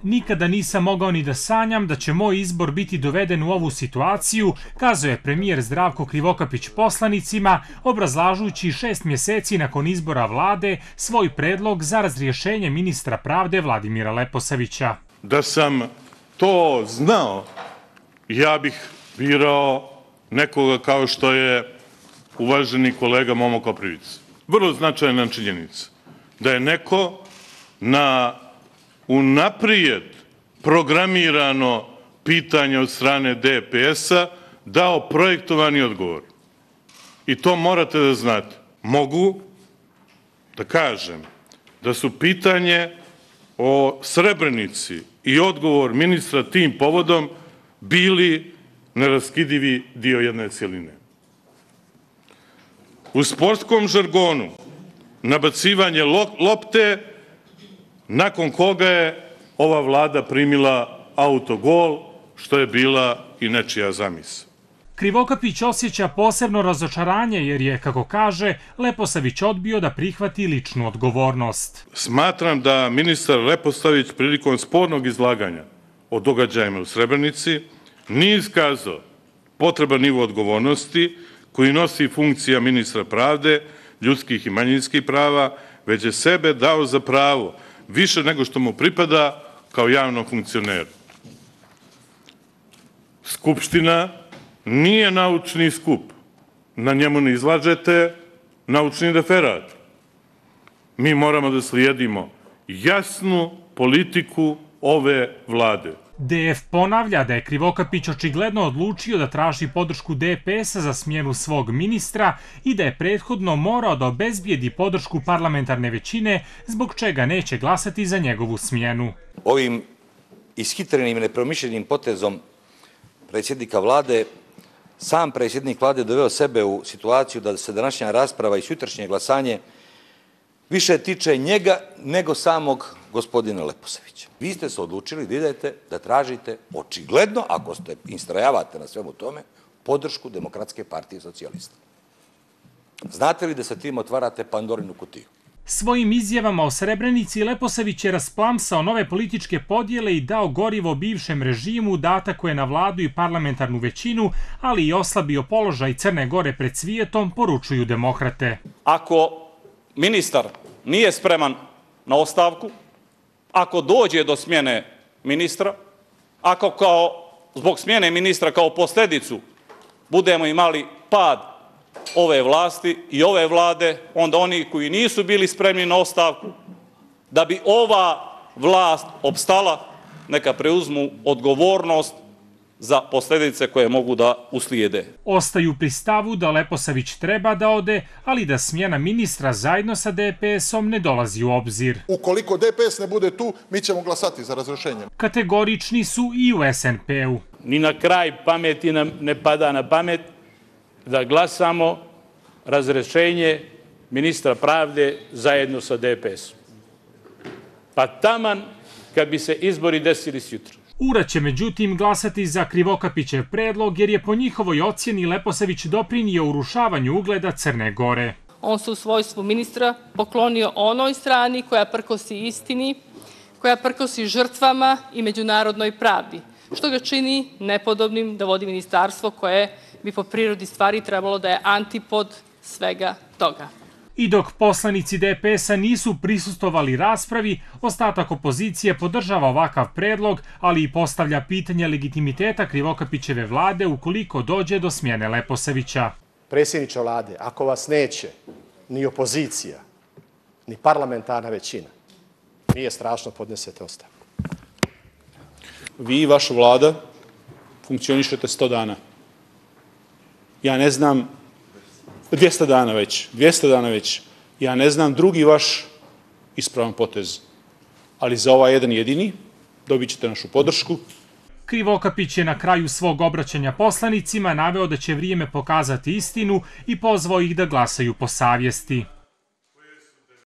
Nikada nisam mogao ni da sanjam da će moj izbor biti doveden u ovu situaciju, kazao je premijer Zdravko Krivokapić poslanicima, obrazlažući 6 mjeseci nakon izbora vlade svoj predlog za razrješenje ministra pravde Vladimira Leposavića. Da sam to znao, ja bih birao nekoga kao što je uvaženi kolega Momo Koprivica. Vrlo značajna činjenica da je neko na unaprijed programirano pitanje od strane DPS-a dao projektovani odgovor. I to morate da znate. Mogu da kažem da su pitanje o Srebrenici i odgovor ministra tim povodom bili neraskidivi dio jedne cjeline. U sportskom žargonu nabacivanje lopte, nakon koga je ova vlada primila autogol, što je bila i nečija zamisao. Krivokapić osjeća posebno razočaranje jer je, kako kaže, Leposavić odbio da prihvati ličnu odgovornost. Smatram da ministar Leposavić prilikom spornog izlaganja o događajima u Srebrenici nije iskazao potreban nivo odgovornosti koji nosi funkcija ministra pravde, ljudskih i manjinskih prava, već je sebe dao za pravo više nego što mu pripada kao javnom funkcioneru. Skupština nije naučni skup. Na njemu ne izlažete naučni referat. Mi moramo da slijedimo jasnu politiku ove vlade. DF ponavlja da je Krivokapić očigledno odlučio da traži podršku DPS-a za smjenu svog ministra i da je prethodno morao da obezbijedi podršku parlamentarne većine, zbog čega neće glasati za njegovu smjenu. Ovim ishitrenim i nepromišljenim potezom predsjednika vlade, sam predsjednik vlade doveo sebe u situaciju da se današnja rasprava i sutrašnje glasanje više tiče njega nego samog gospodina Leposavića. Vi ste se odlučili da idete, da tražite očigledno, ako ste istrajavate na svemu tome, podršku Demokratske partije socijalista. Znate li da sa tim otvarate Pandorinu kutiju? Svojim izjavama o Srebrenici Leposavić je rasplamsao nove političke podjele i dao gorivo bivšem režimu, datako je na vladu i parlamentarnu većinu, ali i oslabio položaj Crne Gore pred svijetom, poručuju demokrate. Ako ministar nije spreman na ostavku, ako dođe do smjene ministra, ako zbog smjene ministra kao posljedicu budemo imali pad ove vlasti i ove vlade, onda oni koji nisu bili spremni na ostavku, da bi ova vlast opstala, neka preuzmu odgovornost za posljedice koje mogu da uslijede. Ostaju pri stavu da Leposavić treba da ode, ali da smjena ministra zajedno sa DPS-om ne dolazi u obzir. Ukoliko DPS ne bude tu, mi ćemo glasati za razrješenje. Kategorični su i u SNP-u. Ni na kraj pameti nam ne pada na pamet da glasamo razrješenje ministra pravde zajedno sa DPS-om. Pa taman kad bi se izbori desili sutra. URA će međutim glasati za Krivokapićev predlog jer je po njihovoj ocjeni Leposavić doprinio urušavanju ugleda Crne Gore. On se u svojstvu ministra poklonio onoj strani koja prkosi istini, koja prkosi žrtvama i međunarodnoj pravdi, što ga čini nepodobnim da vodi ministarstvo koje bi po prirodi stvari trebalo da je antipod svega toga. I dok poslanici DPS-a nisu prisustvovali raspravi, ostatak opozicije podržava ovakav predlog, ali i postavlja pitanje legitimiteta Krivokapićeve vlade ukoliko dođe do smjene Leposavića. Predsjedniče vlade, ako vas neće ni opozicija, ni parlamentarna većina, nije strašno, podnesete ostavku. Vi i vaša vlada funkcionišete 100 dana. Ja ne znam, 200 dana već. Ja ne znam drugi vaš ispravan potez. Ali za ovaj jedan jedini dobit ćete našu podršku. Krivokapić je na kraju svog obraćanja poslanicima naveo da će vrijeme pokazati istinu i pozvao ih da glasaju po savjesti.